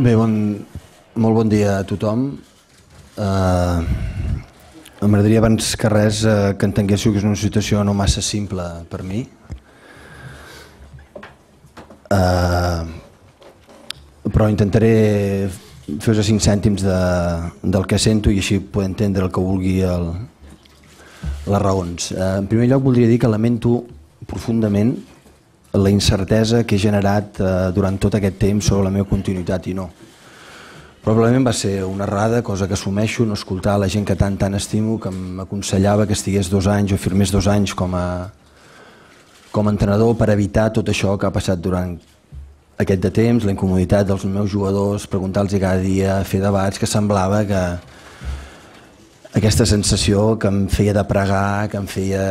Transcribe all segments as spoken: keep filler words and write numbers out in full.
Bé, bon, molt bon dia a tothom. Uh, M'agradaria abans que res uh, que entenguéssiu que és una situació no massa simple per mi. Uh, però intentaré fer-vos cinc cèntims de, del que sento i així poder entendre el que vulgui el, les raons. Uh, en primer lloc voldria dir que lamento profundament la incertesa que he generat eh, durant tot aquest temps sobre la meva continuïtat i no. Probablement va ser una errada, cosa que assumeixo, no escoltar la gent que tant tant estimo, que m'aconsellava que estigués dos anys o firmés dos anys com a, com a entrenador per evitar tot això que ha passat durant aquest de temps, la incomoditat dels meus jugadors, preguntar-los cada dia, fer debats, que semblava que aquesta sensació que em feia de pregar, que em feia...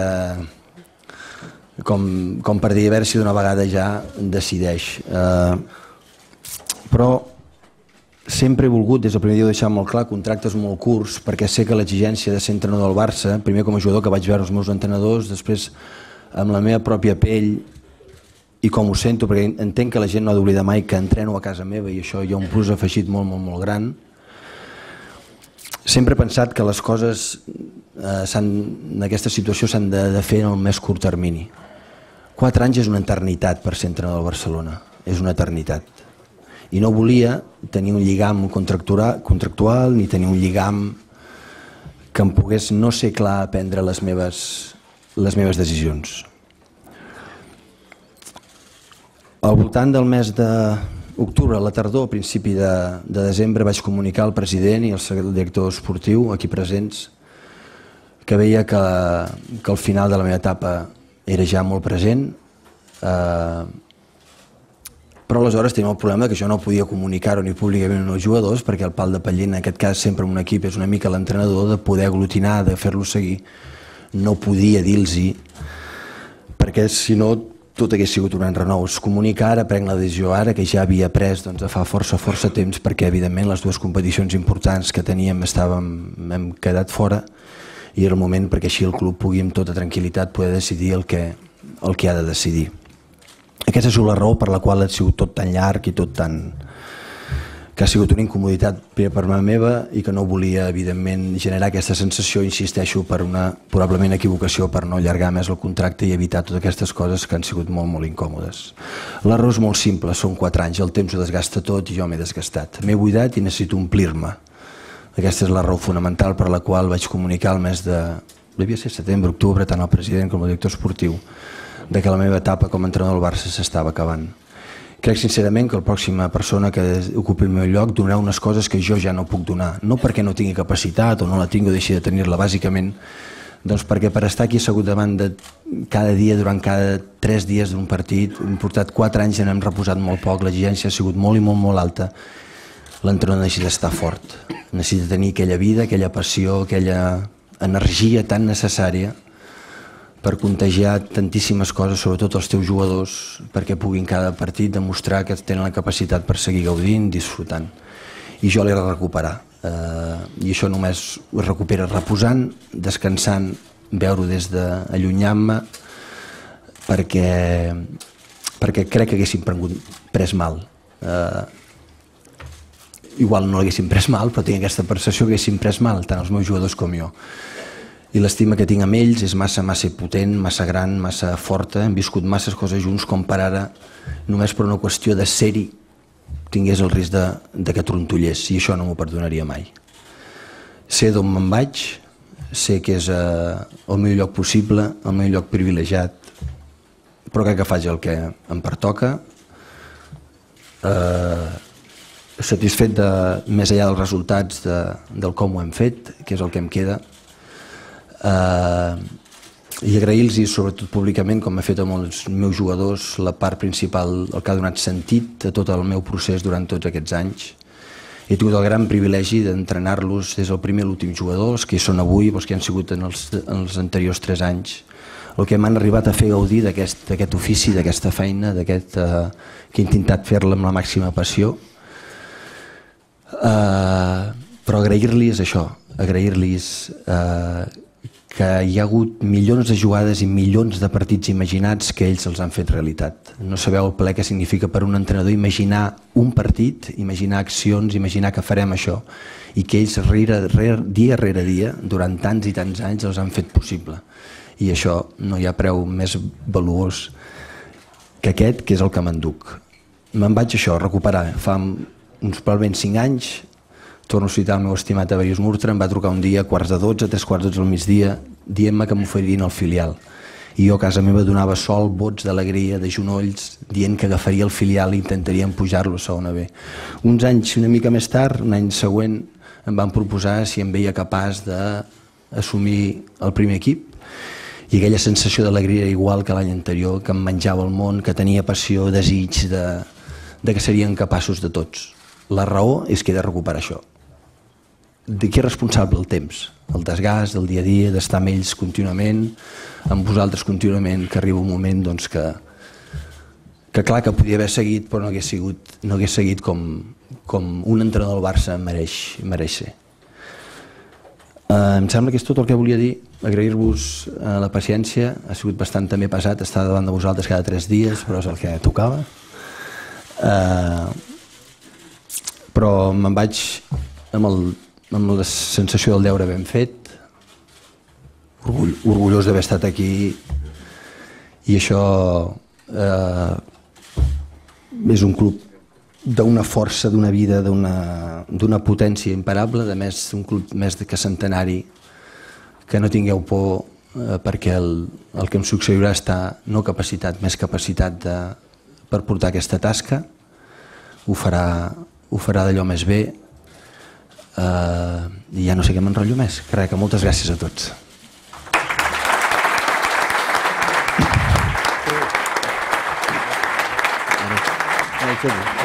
Com, com per dir, a veure si d'una vegada ja decideix. Eh, però sempre he volgut, des del primer dia ho he deixat molt clar, contractes molt curts, perquè sé que l'exigència de ser entrenador del Barça, primer com a jugador que vaig veure els meus entrenadors, després amb la meva pròpia pell i com ho sento, perquè entenc que la gent no ha d'oblidar mai que entreno a casa meva i això hi ha un plus afegit molt, molt, molt gran. Sempre he pensat que les coses eh, en aquesta situació s'han de, de fer en el més curt termini. Quatre anys és una eternitat per ser entrenador del Barcelona, és una eternitat. I no volia tenir un lligam contractual, contractual ni tenir un lligam que em pogués no ser clar a prendre les meves, les meves decisions. Al voltant del mes d'octubre, a la tardor, a principi de, de desembre, vaig comunicar al president i al director esportiu, aquí presents, que veia que, que el final de la meva etapa era ja molt present, eh, però aleshores tenim el problema que jo no podia comunicar-ho ni públicament als jugadors perquè el pal de paller, en aquest cas sempre en un equip, és una mica l'entrenador, de poder aglutinar, de fer-lo seguir. No podia dir-los-hi, perquè si no tot hagués sigut un enrenou. Es comunica ara, prenc la decisió ara, que ja havia pres doncs, fa força, força temps, perquè evidentment les dues competicions importants que teníem estàvem, hem quedat fora, i era el moment perquè així el club pugui amb tota tranquil·litat poder decidir el que, el que ha de decidir. Aquesta és la raó per la qual ha sigut tot tan llarg i tot tan... que ha sigut una incomoditat per part meva i que no volia, evidentment, generar aquesta sensació, insisteixo, per una probablement equivocació, per no allargar més el contracte i evitar totes aquestes coses que han sigut molt, molt incòmodes. La raó és molt simple, són quatre anys, el temps ho desgasta tot i jo m'he desgastat. M'he buidat i necessito omplir-me. Aquesta és la raó fonamental per la qual vaig comunicar el mes de, devia ser setembre, octubre, tant al president com al director esportiu, de que la meva etapa com a entrenador del Barça s'estava acabant. Crec sincerament que la pròxima persona que ocupi el meu lloc donarà unes coses que jo ja no puc donar, no perquè no tingui capacitat o no la tingui o deixi de tenir-la, bàsicament doncs perquè per estar aquí assegut davant de cada dia, durant cada tres dies d'un partit, hem portat quatre anys i n'hem reposat molt poc, l'exigència ha sigut molt i molt molt alta. L'entrenador necessita estar fort, necessita tenir aquella vida, aquella passió, aquella energia tan necessària per contagiar tantíssimes coses, sobretot els teus jugadors, perquè puguin cada partit demostrar que tenen la capacitat per seguir gaudint, disfrutant. I jo l'he de recuperar. Eh, I això només ho recupera reposant, descansant, veure-ho des d'allunyant-me, perquè, perquè crec que haguéssim pres mal. Eh, igual no l'haguéssim pres mal, però tinc aquesta percepció que haguéssim pres mal, tant els meus jugadors com jo. I l'estima que tinc amb ells és massa, massa potent, massa gran, massa forta. Hem viscut masses coses junts com per ara, només per una qüestió de ser-hi, tingués el risc de, de que trontollés, i això no m'ho perdonaria mai. Sé d'on me'n vaig, sé que és eh, el meu lloc possible, el meu lloc privilegiat, però crec que faig el que em pertoca, eh, satisfet de, més enllà dels resultats de, del com ho hem fet, que és el que em queda, Uh, i agrair-los, sobretot públicament, com he fet amb els meus jugadors, la part principal, el que ha donat sentit a tot el meu procés durant tots aquests anys. He tingut el gran privilegi d'entrenar-los des del primer a l'últim jugador, els que hi són avui, els que han sigut en els, en els anteriors tres anys, el que m'han arribat a fer gaudir d'aquest ofici, d'aquesta feina, d'aquest uh, que he intentat fer-la amb la màxima passió. Uh, però agrair-los això, agrair-los uh, que hi ha hagut milions de jugades i milions de partits imaginats que ells els han fet realitat. No sabeu el plaer que significa per un entrenador imaginar un partit, imaginar accions, imaginar que farem això, i que ells rere, rere, dia rere dia, durant tants i tants anys, els han fet possible. I això no hi ha preu més valuós que aquest, que és el que m'enduc. Me'n vaig això, recuperar. Fa uns probablement cinc anys, torno a citar el meu estimat Averius Murtra, em va trucar un dia a quarts de dotze, tres quarts de dotze al migdia, dient-me que m'oferirien el filial. I jo a casa meva donava sol, bots d'alegria, de genolls, dient que agafaria el filial i intentaríem pujar-lo a segona B. Uns anys una mica més tard, un any següent, em van proposar si em veia capaç d'assumir el primer equip, i aquella sensació d'alegria era igual que l'any anterior, que em menjava el món, que tenia passió, desig de, de que serien capaços de tots. La raó és que he de recuperar això. De qui és responsable el temps? El desgast, el dia a dia, d'estar amb ells contínuament, amb vosaltres contínuament, que arriba un moment doncs, que, que clar que podia haver seguit, però no hagués, sigut, no hagués seguit com, com un entrenador del Barça mereix, mereix ser. Uh, em sembla que és tot el que volia dir. Agrair-vos uh, la paciència. Ha sigut bastant també pesat estar davant de vosaltres cada tres dies, però és el que tocava. Uh, però me'n vaig amb, el, amb la sensació del deure ben fet, orgull, orgullós d'haver estat aquí, i això uh, és un club d'una força, d'una vida, d'una potència imparable, de més un club més que centenari, que no tingueu por eh, perquè el, el que em succeirà està no capacitat, més capacitat de, per portar aquesta tasca, ho farà, ho farà d'allò més bé, eh, i ja no sé què m'enrotllo més, que res, que moltes gràcies a tots. Thank you.